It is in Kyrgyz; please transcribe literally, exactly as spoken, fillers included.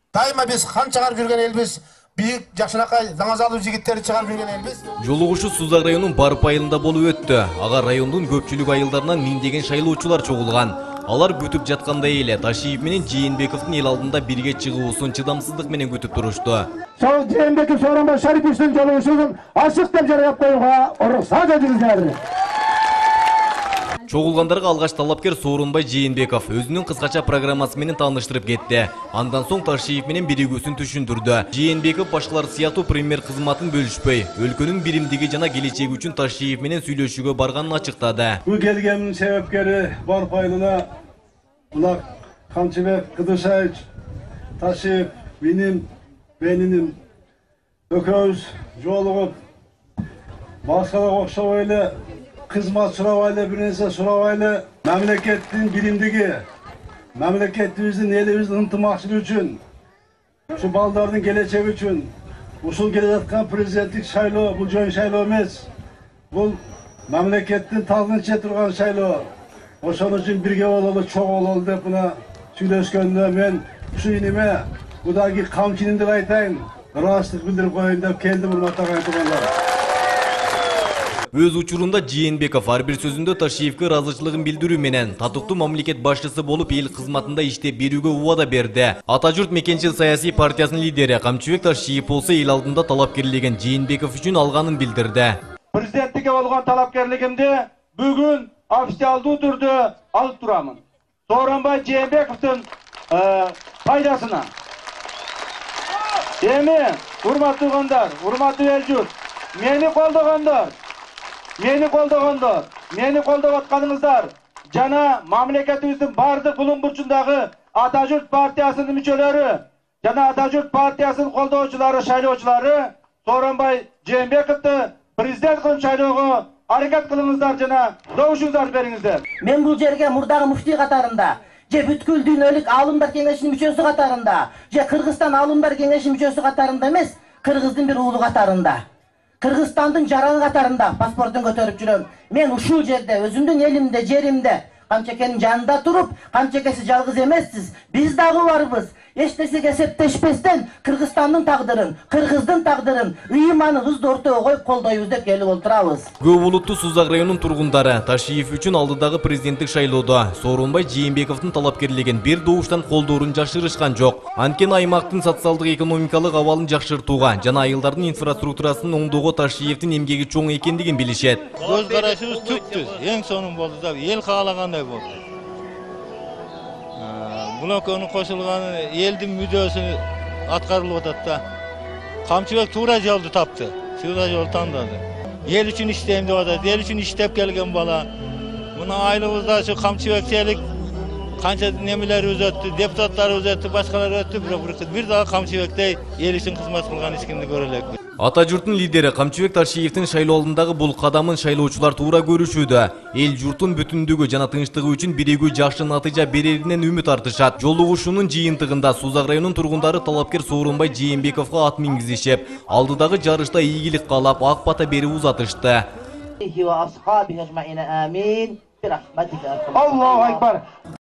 Дайыма биз хан чыгарып жүргөн элбиз. Бийик жакшынакай даңазалуу жигиттерди чыгарып жүргөн элбиз. Жолугушуу Сузак районунун Барып айылында болуп өттү. Ага райондун көпчүлүк айылдарынан миңдеген шайлоочулар чогулган. Алар күтүп жаткандай эле Ташиев менен Жээнбековдун эл алдында бирге чыгуусун чыдамсыздык менен күтүп турушту. Сол Жээнбеков Сооронбай Шариповичтин жолугушуусун ачык деп жарыяп коюуга уруксат этиңиздер. Чогулгандарга алгач талапкер Сооронбай Жээнбеков өзүнүн кыскача программасы менен тааныштырып кетти. Андан соң Ташиев менен биригүүсүн түшүндүрдү. Жээнбеков башкалар сыяктуу премьер кызматын бөлүшпөй, өлкөнүн биримдиги жана келечеги үчүн Ташиев менен сүйлөшүүгө барганын ачыктады. Бул келгендин себепкери Барып айылына мына Камчыбек Кыдыршаевич, Ташиев, менин, менин экөөбүз жолугуп башкаларга окшобой эле кызмат сурабай эле, бир нерсе сурабай эле, мамлекеттин биримдиги, мамлекетибиздин, элибиздин ынтымакчылыгы үчүн, ушу балдардын келечеги үчүн, ушул келе жаткан президенттик шайлоо бул жөн шайлоо эмес. Бул мамлекеттин талгынча турган шайлоо. Ошон үчүн бирге бололу, чогуу бололу деп мына сүйлөшкөндө мен ушу иниме мудагы камчынын деп айтайын, ыраазычылык билдирип коеюн деп келдим, урматтуу агайындар. Өз учурунда Жээнбеков ар бир сөзүндө Ташиевке ыраазычылыгын билдирүү менен татыктуу мамлекет башчысы болуп эл кызматында иштеп берүүгө убада берди. Ата журт Мекенчил саясий партиясынын лидери Камчыбек Ташиев болсо эл алдында талапкерлеген Жээнбеков үчүн алганын билдирди. Президенттикке болгон талапкерлигимди бүгүн официалдуу түрдө алып турамын. Сооронбай Жээнбековдун пайдасына. Эми, урматтуу туугандар, урматтуу эл журт, мени колдогондор, Мени колдогондор, мени колдоп атканыңыздар жана мамлекетибиздин бардык булуң бурчундагы Ата журт партиясынын мүчөлөрү жана Ата журт партиясынын колдоочулары, шайлоочулары Сооронбай Жээнбековду президент кылып шайлоого аракет кылыңыздар жана добушуңуздар бериңиздер. Мен бул жерге мурдагы муфтий катарында, же бүткүл дүйнөлүк алымдар кеңешинин мүчөсү катарында, же Кыргызстан алымдар кеңешинин мүчөсү катарында эмес, Кыргыздын бир уулу катарында. Кыргызстандын жараны катарында паспортун көтөрүп жүрөм. Мен ушул жерде, өзүмдүн элимде, жеримде, Камчекенин жанында туруп, Камчекеси жалгыз эмессиз, биз дагы барбыз. Эч нерсеге септешпестен Кыргызстандын тагдырын, Кыргыздын тагдырын, ыйманыбызды ортого коюп колдойбуз деп келип отурабыз. Көп улуттуу Сузак районунун тургундары Ташиев үчүн алдыдагы президенттик шайлоодо Сооронбай Жээнбековдун талапкерлигин бир добуштан колдоорун жашырышкан жок. Анткени аймактын социалдык экономикалык абалын жакшыртууга жана айылдардын инфраструктурасын оңдоого Ташиевдин эмгеги чоң экендигин билишет. Көз карашыбыз түптү, эң сонун болду да, эл каалагандай болду. Бул экөөнүн кошулганы элдин мүдөөсү аткарылып атат да. Камчыбек туура жолду тапты, туура жол тандады. Эл үчүн иштейм деп атат, эл үчүн иштеп келген бала. Мына айылыбызда ошо Камчыбекчелик канча немелер өзөттү, депутаттар өзөттү, башкалар өттү, бирок бир дагы Камчыбектей эл үчүн кызмат кылган эч кимди көрө элекпиз. Ата журттун лидери Камчыбек Ташиевдин шайлоо алдындагы бул кадамын шайлоочулар туура көрүшүүдө. Эл журттун бүтүндүгү жана тынчтыгы үчүн биригүү жакшы натыйжа береринен үмүт артышат. Жолугушуунун жыйынтыгында Сузак районунун тургундары талапкер Сооронбай Жээнбековго ат мингизишип, алдыдагы жарышта ийгилик каалап ак бата берип узатышты. Аллаху акбар.